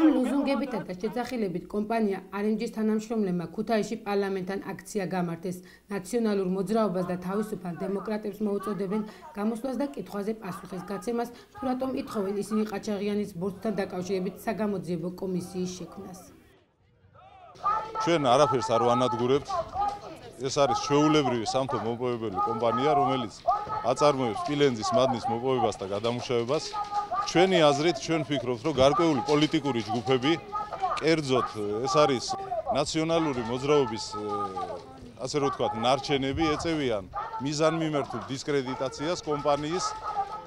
ამ ლოზუნგებითა და შეძახილებით კომპანია RMG-ს თანამშრომლებმა ქუთაისში პარლამენტთან აქცია გამართეს. ნაციონალურ მოძრაობას და თავისუფალ დემოკრატებს მოუწოდებენ გამოსვლას და კითხვაზე პასუხის გაცემას, თუ რატომ ითხოვენ ისინი ყაჩაღიანის ბორცვთან დაკავშირებით საგამოძიებო კომისიის შექმნას. ჩვენ არაფერს არ ვანადგურებთ. ეს არის ჩვეულებრივი სამთო მოპოვებელი კომპანია, რომელიც აწარმოებს სპილენძის მადნის მოპოვებას და გადამუშავებას. ჩვენი აზრით, ჩვენ ვფიქრობთ, რომ გარკვეული პოლიტიკური ჯგუფები, კერძოდ ეს არის ნაციონალური მოძრაობის, ასე რომ ვთქვათ, ნარჩენები ეწევიან მიზანმიმართულ დისკრედიტაციას კომპანიის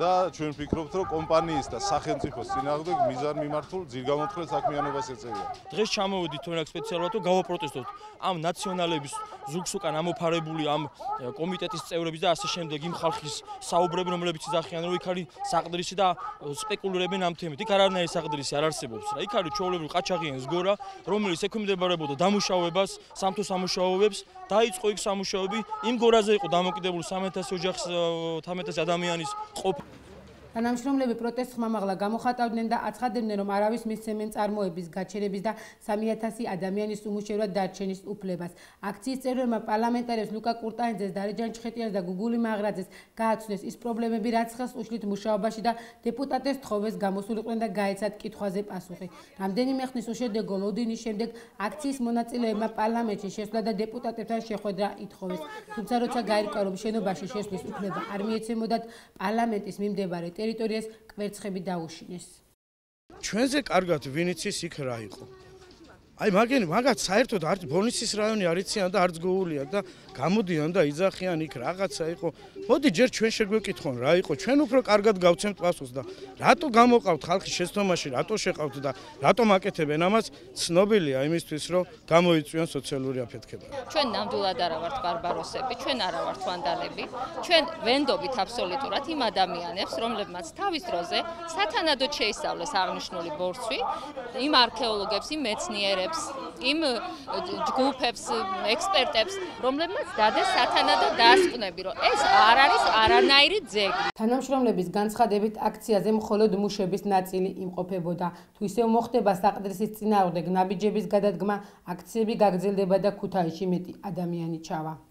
და ჩვენ ვფიქრობთ, რომ კომპანიის და სახელმწიფოს წინააღმდეგ მიზანმიმართულ ძირგამოთხრილ საქმიანობას ეწევიან. დღეს ჩამოვედით თორემ სპეციალურად რომ გავაპროტესტოთ ამ ნაციონალების ზუგს უკან ამოფარებული ამ კომიტეტის წევრების და ასე შემდეგ იმ ხალხის საუბრები, რომლებიც იძახიან, რომ იქ არის საყდრისი და სპეკულირებენ ამ თემით. იქ არანაირი საყდრისი არ არსებობს რა. იქ არის ჩვეულებრივი ყაჩაღიანის გორა, რომელიც ექვემდებარებოდა დამუშავებას, სამთო სამუშაოებს, დაიწყო იქ სამუშაოები. იმ გორაზე იყო დამოკიდებული 1300 ოჯახის 1300 ადამიანის ყოფა. თანამშრომლები პროტესტს ხმამაღლა გამოხატავდნენ და აცხადებდნენ, რომ არავის მისცემენ წარმოების, გაჩერების და 3000 ადამიანის უმუშევრად დარჩენის უფლებას. აქციის წევრებმა პარლამენტარებს ლუკა კურტანიძეს, დარეჯან ჩხეტიანს და გუგული მაღრაძეს გააცნეს ის პრობლემები, რაც ხელს უშლით მუშაობაში და დეპუტატებს თხოვეს გამოსულიყვნენ და გაეცათ კითხვაზე პასუხი. რამდენიმე ხნის უშედეგო ლოდინის შემდეგ აქციის მონაწილეებმა პარლამენტში შესვლა და დეპუტატებთან შეხვედრა ითხოვეს. თუმცა როცა გაირკვა, რომ შენობაში შესვლის უფლება არ მიეცემოდათ, პარლამენტის მიმდებარე ტერიტორიას კვერცხები დაუშინეს. ჩვენზე კარგად ვინიცის იქ რა იყო. აი მაგათ საერთოდ არც ბონისის რაიონი არ იციან და არც გოულია და გამოდიან და იძახიან იქ რაღაცა იყო. მოდი ჯერ ჩვენ შეგვეკითხონ რა იყო. ჩვენ უფრო კარგად გავცემთ პასუხს და რატო გამოყავთ ხალხის შეცდომაში, რატო შეყავთ და რატომ აკეთებენ ამას, ცნობილია იმისთვის, რომ გამოიწვიონ სოციალური აფეთქება. ჩვენ ნამდვილად არა ვართ ბარბაროსები, ჩვენ არა ვართ ვანდალები. ჩვენ ვენდობით აბსოლუტურად იმ ადამიანებს, რომლებმაც თავის დროზე სათანადოდ შეისწავლეს აღნიშნული ბორცვი, იმ არქეოლოგებს, იმ მეცნიერებს, იმ ჯგუფებს, ექსპერტებს, რომლებმაც დადეს სათანადო დასკვნები, რომ ეს არ არის არანაირი ძეგლი. თანამშრომლების განცხადებით აქციაზე მხოლოდ მუშების ნაწილი იმყოფებოდა. თუ ისევ მოხდება საყდრისის წინააღმდეგ ნაბიჯების გადადგმა, აქციები გაგრძელდება და ქუთაისში მეტი ადამიანი ჩავა.